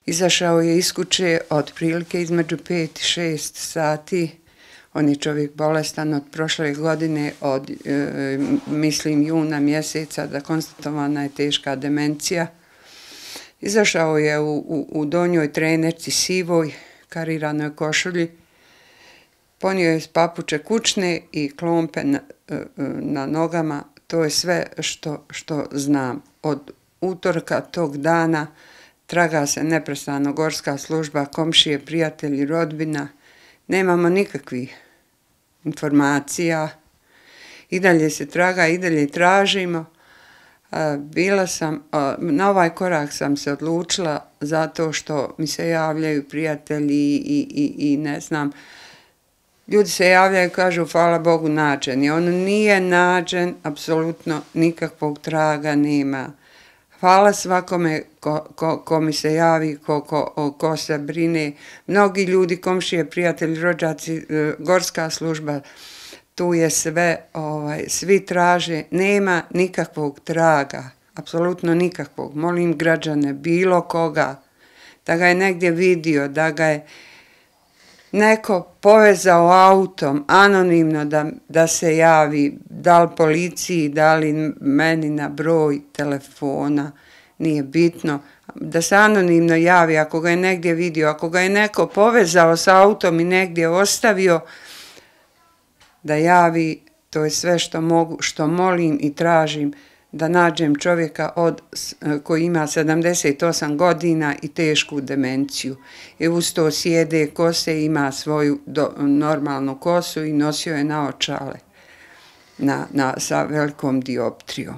Izašao je iz kuće otprilike između 5 i 6 sati. On je čovjek bolestan od prošle godine, od mislim juna mjeseca, da konstatovana je teška demencija. Izašao je u donjoj trenerci sivoj, kariranoj košulji. Ponio je papuče kućne i klompe na nogama. To je sve što znam. Od utorka tog dana traga se neprestano gorska služba, komšije, prijatelji, rodbina. Nemamo nikakvih informacija. I dalje se traga, i dalje tražimo. Na ovaj korak sam se odlučila zato što mi se javljaju prijatelji i ne znam, ljudi se javljaju i kažu hvala Bogu nađen je. On nije nađen, apsolutno nikakvog traga nema. Hvala svakome ko mi se javi, ko se brine. Mnogi ljudi, komšije, prijatelji, rođaci, gorska služba, tu je sve, svi traže, nema nikakvog traga, apsolutno nikakvog. Molim građane, bilo koga, da ga je negdje vidio, da ga je neko povezao autom, anonimno da se javi, da li policiji, da li meni na broj telefona, nije bitno, da se anonimno javi ako ga je negdje vidio, ako ga je neko povezao sa autom i negdje ostavio, da javi, to je sve što mogu, što molim i tražim, da nađem čovjeka koji ima 78 godina i tešku demenciju. I uz to sjede kose, ima svoju normalnu kosu i nosio je naočale sa velikom dioptrijom.